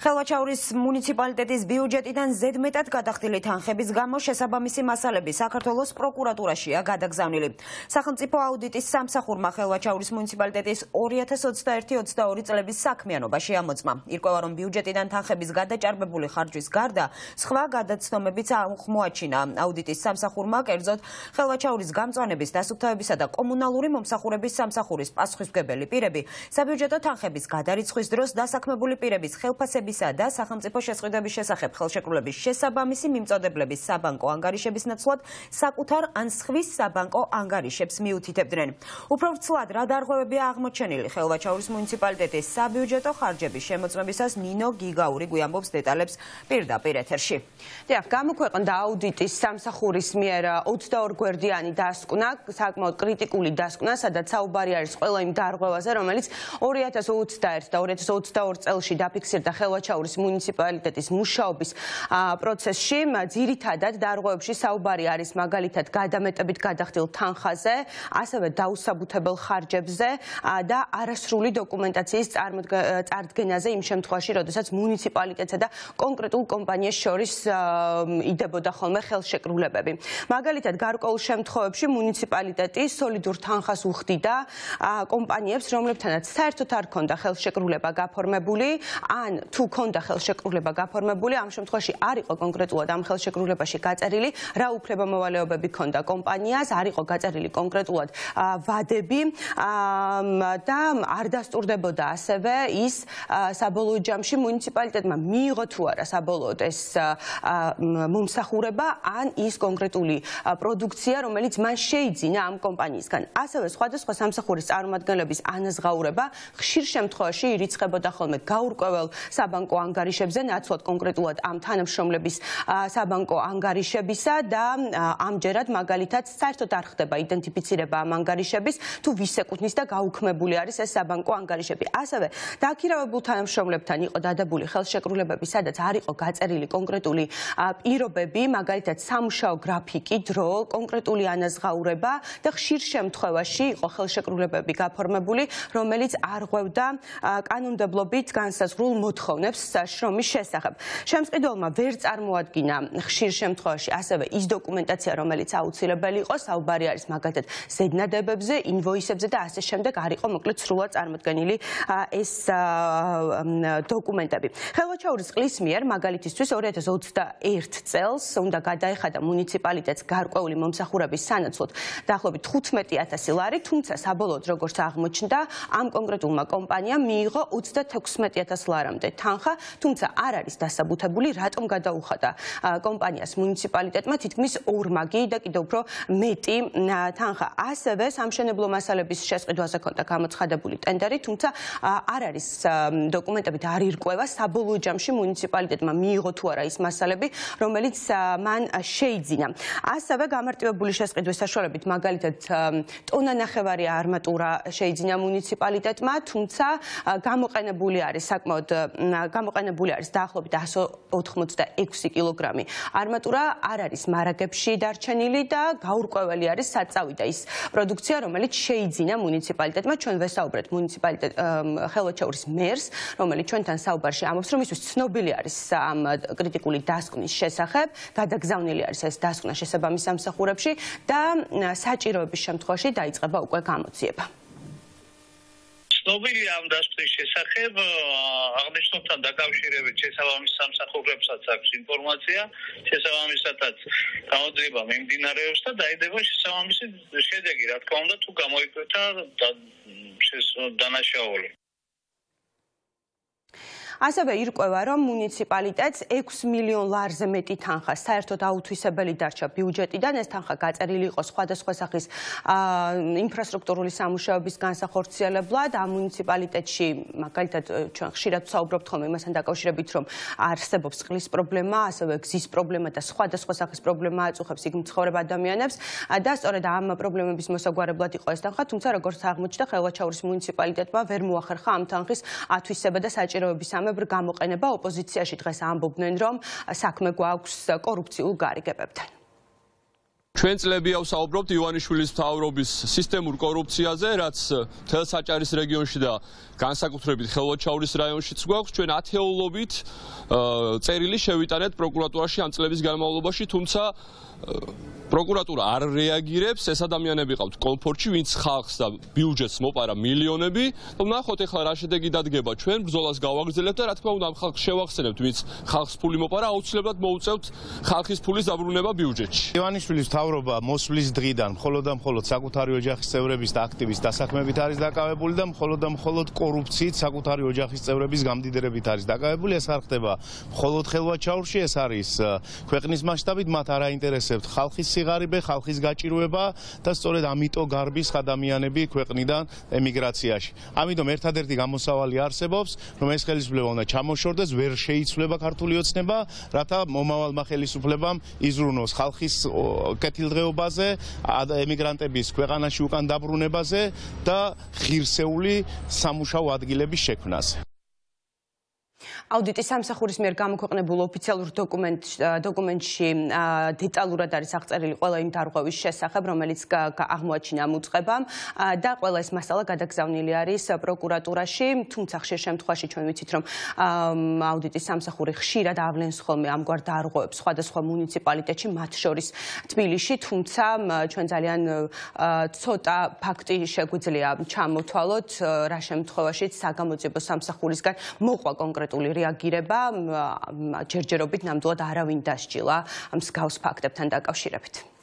ხელვაჩაურის მუნიციპალიტეტის ბიუჯეტიდან ზედმეტად გადახდილი თანხების გამო შესაბამისი მასალები საქართველოს პროკურატურაშია გადაგზავნილი. სახელმწიფო აუდიტის სამსახურმა ხელვაჩაურის მუნიციპალიტეტის 2021-22 წლების საქმიანობაში ამოწმა. ირკვევა, რომ ბიუჯეტიდან თანხების გადაჭარბებული ხარჯვის გარდა სხვა გადაცნობებიც აღმოაჩინა. აუდიტის სამსახურმა კერძოდ ხელვაჩაურის გამწვანების, დასუფთავებისა და კომუნალური მომსახურების სამსახურის პასუხისმგებელი პირები საბიუჯეტო თანხების გადარიცხვის დროს დასაქმებული პირების ხელფასებისა და სახელმწიფო შესყიდვების შესახებ ხელშეკრულების შესაბამისი მიმწოდებლების საბანკო ანგარიშების ნაცვლად საკუთარ ან სხვის საბანკო ანგარიშებს მიუთითებდნენ. უფრო ვრცლად რა დარღვევებია აღმოჩენილი ხელვაჩაურის მუნიციპალიტეტის საბიუჯეტო ხარჯების შემოწმებისას ნინო გიგაური გვიამბობს დეტალებს პირდაპირ ეთერში. დიახ, გამოქვეყნდა აუდიტის სამსახურის მიერ 22 გვერდიანი დასკვნა, საკმაოდ კრიტიკული დასკვნა, სადაც საუბარი არის ყველა იმ დარღვევაზე, რომელიც 2021 და 2022 წელში დაფიქსირდა ხელვაჩაურის მუნიციპალიტეტის მუშაობის პროცესში. ძირითადად დარღვევებში საუბარი არის მაგალითად გადამეტებით გადახდილ თანხაზე, ასევე დაუსაბუთებელ ხარჯებზე და არასრული დოკუმენტაციის წარდგენაზე იმ შემთხვევაში, როდესაც მუნიციპალიტეტსა და კონკრეტულ კომპანიას შორის იდებოდა ხოლმე ხელშეკრულებები. მაგალითად, გარკვეულ შემთხვევებში მუნიციპალიტეტი სოლიდურ თანხას უხდიდა კომპანიებს, რომლებთანაც საერთოდ არ ჰქონდა ხელშეკრულება გაფორმებული, ან თუ ჰქონდა ხელშეკრულება გაფორმებული, ამ შემთხვევაში არ იყო კონკრეტულად ამ ხელშეკრულებაში გაწერილი, რა უფლებამოვალეობები ჰქონდა კომპანიას, არ იყო გაწერილი კონკრეტულად ვადები და არ დასტურდებოდა ასევე ის საბოლოო ჯამში მუნიციპალიტეტმა მიიღო თუ არა საბოლოოდ ეს მომსახურება ან ის კონკრეტული პროდუქცია, რომელიც მან შეიძინა ამ კომპანიისგან. ასევე სხვადასხვა სამსახურის წარმომადგენლების ანაზღაურება ხშირ შემთხვევაში ირიცხებოდა ხოლმე გაურკვეველ საბანკო ანგარიშებზე, ნაცვლად კონკრეტულად ამ თანამშრომლების საბანკო ანგარიშებისა და ამჯერად მაგალითად საერთოდ არ ხდება იდენტიფიცირება ამ ანგარიშების, თუ ვის ეკუთვნის და გაუქმებული არის ეს საბანკო ანგარიშები. ასევე დაქირავებულ თანამშრომლებთან იყო დადებული ხელშეკრულებები, სადაც არ იყო გაწერილი კონკრეტული პირობები, მაგალითად სამუშაო გრაფიკი, დრო, კონკრეტული ანაზღაურება და ხშირ შემთხვევაში იყო ხელშეკრულებები გაფორმებული, რომელიც არღვევდა კანონმდებლობით განსაზღვრულ მოთხოვნებს შრომის შესახებ. შემწყიდველმა ვერ წარმოადგინა ხშირ შემთხვევაში ასევე ის დოკუმენტაცია, რომელიც აუცილებელი იყო, საუბარი არის მაგალითად ზედნადებებზე, ინვოისებზე და ასე შემდეგ, არ იყო მოკლედ სრულად წარმოდგენილი ეს დოკუმენტები. ხელვაჩაურის წყლის მიერ მაგალითისთვის 2021 წელს უნდა გადაეხადა მუნიციპალიტეტს გარკვეული მომსახურების სანაცვლოდ დაახლოებით 15,000 ლარი, თუმცა საბოლოოდ როგორც აღმოჩნდა, ამ კონკრეტულმა კომპანიამ მიიღო 36,000 ლარამდე თანხა, თუმცა არ არის დასაბუთებული, რატომ გადაუხადა კომპანიას მუნიციპალიტეტმა თითქმის ორმაგი და კიდევ უფრო მეტი თანხა. ასევე სამშენებლო მასალების შესყიდვაზე ჰქონდა გამოცხადებული ტენდერი, თუმცა არ არის დოკუმენტებით არ ირკვევა საბოლოო ჯამში მუნიციპალიტეტმა მიიღო თუ არა ის მასალები, რომელიც მან შეიძინა. ასევე გამარტივებული შესყიდვის საშუალებით მაგალითად ტონანახევარი არმატურა შეიძინა მუნიციპალიტეტმა, თუმცა გამოყენებული არის დაახლოებით 186 კილოგრამი არმატურა არ არის მარაგებში დარჩენილი და გაურკვეველი არის საწავიდა ის პროდუქცია, რომელიც შეიძინა მუნიციპალიტეტმა. ჩვენ ვესაუბრეთ ხელვაჩაურის მერს, რომელიც ჩვენთან საუბარში ამბობს, რომ ისთვის ცნობილი არის ამ კრიტიკული დასკვნის შესახებ, გადაგზავნილი არის ეს დასკვნა შესაბამის სამსახურებში და საჭიროების შემთხვევაში დაიწყება უკვე გამოძიება. ცნობილი ამ დასკვნის შესახებ აღნიშნულთან დაკავშირებით შესაბამის სამსახურებსაც აქვს ინფორმაცია, შესაბამისათაც გამოძიება მიმდინარეობს და დაიდება შესაბამისი შედეგი, რა თქმა უნდა, თუ გამოიკვეთა დანაშაული. ასევე ირკვევა, რომ მუნიციპალიტეტს 6 მილიონ ლარზე მეტი თანხა საერთოდ აუთვისებელი დარჩა ბიუჯეტიდან. ეს თანხა გაწერილი იყო სხვადასხვა სახის ინფრასტრუქტურული სამუშაოების განსახორციელებლად. ამ მუნიციპალიტეტში მაგალითად ჩვენ ხშირად ვსაუბრობთ ხოლმე იმასთან დაკავშირებით, რომ არსებობს წყლის პრობლემა, ასევე გზის პრობლემა და სხვადასხვა სახის პრობლემა აწუხებს იქ მცხოვრებ ადამიანებს და სწორედ ამ პრობლემების მოსაგვარებლად იყო ეს თანხა, თუმცა როგორც აღმოჩნდა, ხელვაჩაურის მუნიციპალიტეტმა ვერ მოახერხა ამ თანხის ათვისება და საჭიროების გამოყენება. ოპოზიციაში დღეს ამბობდნენ, რომ საქმე გვაქვს კორუფციულ გარიგებებთან. ჩვენ წლებია ვსაუბრობთ ივანიშვილის მთავრობის სისტემურ კორუფციაზე, რაც მთელ საჭარის რეგიონში და განსაკუთრებით ხელვაჩაურის რაიონშიც გვაქვს. ჩვენ ათეულობით წერილი შევიტანეთ პროკურატურაში ამ წლების განმავლობაში, თუმცა პროკურატურა არ რეაგირებს. ეს ადამიანები ყავთ კომფორტში, ვინც ხალხს და ბიუჯეტს მოპარა მილიონები. ვნახოთ ახლა რა შედეგი დადგება. ჩვენ ბრძოლას გავაგრძელებთ და რა თქმა უნდა ამ ხალხს შევახსენებთ, ვინც ხალხს ფული მოპარა, აუცილებლად მოუწევთ ხალხის ფულის დაბრუნება ბიუჯეტში. ივანიშვილის მთავრობა მოსვლის დღიდან მხოლოდ და მხოლოდ საკუთარი ოჯახის წევრების და აქტივის დასაქმებით არის დაკავებული და მხოლოდ კორუფციით საკუთარი ოჯახის წევრების გამდიდრებით არის დაკავებული. ეს არ ხდება მხოლოდ ხელვაჩაურში, ეს არის ქვეყნის მასშტაბით, მათ არ აინტერესებთ ხალხის სიღარიბე, ხალხის გაჭირვება და სწორედ ამიტომ გარბის ადამიანები ქვეყნიდან ემიგრაციაში. ამიტომ ერთადერთი გამოსავალი არსებობს, რომ ეს ხელისუფლება უნდა ჩამოშორდეს, ვერ შეიცვლება ქართული ოცნება, რათა მომავალმა ხელისუფლებამ იზრუნოს ხალხის კეთილდღეობაზე, ემიგრანტების ქვეყანაში უკან დაბრუნებაზე და ღირსეული სამუშაო ადგილების შექმნაზე. აუდიტის სამსახურის მიერ გამოქვეყნებულ ოფიციალურ დოკუმენტში დეტალურად არის აღწერილი ყველა იმ დარღვევის შესახებ, რომელიც აღმოაჩინა ამ უწყებამ და ყველა ეს მასალა გადაგზავნილი არის პროკურატურაში. თუმცა ხშირ შემთხვევაში ჩვენ ვიცით, რომ აუდიტის სამსახური ხშირად ავლენს ხოლმე ამგვარ დარღვევებს სხვადასხვა მუნიციპალიტეტში, მათ შორის თბილისში, თუმცა ჩვენ ძალიან ცოტა ფაქტი შეგვიძლია ჩამოთვალოთ, რა შემთხვევაშიც საგამოძიებო სამსახურისგან მოყვა კონკრეტული რეაგირება, ჯერჯერობით ნამდვილად არავინ დასჯილა მსგავს ფაქტებთან დაკავშირებით.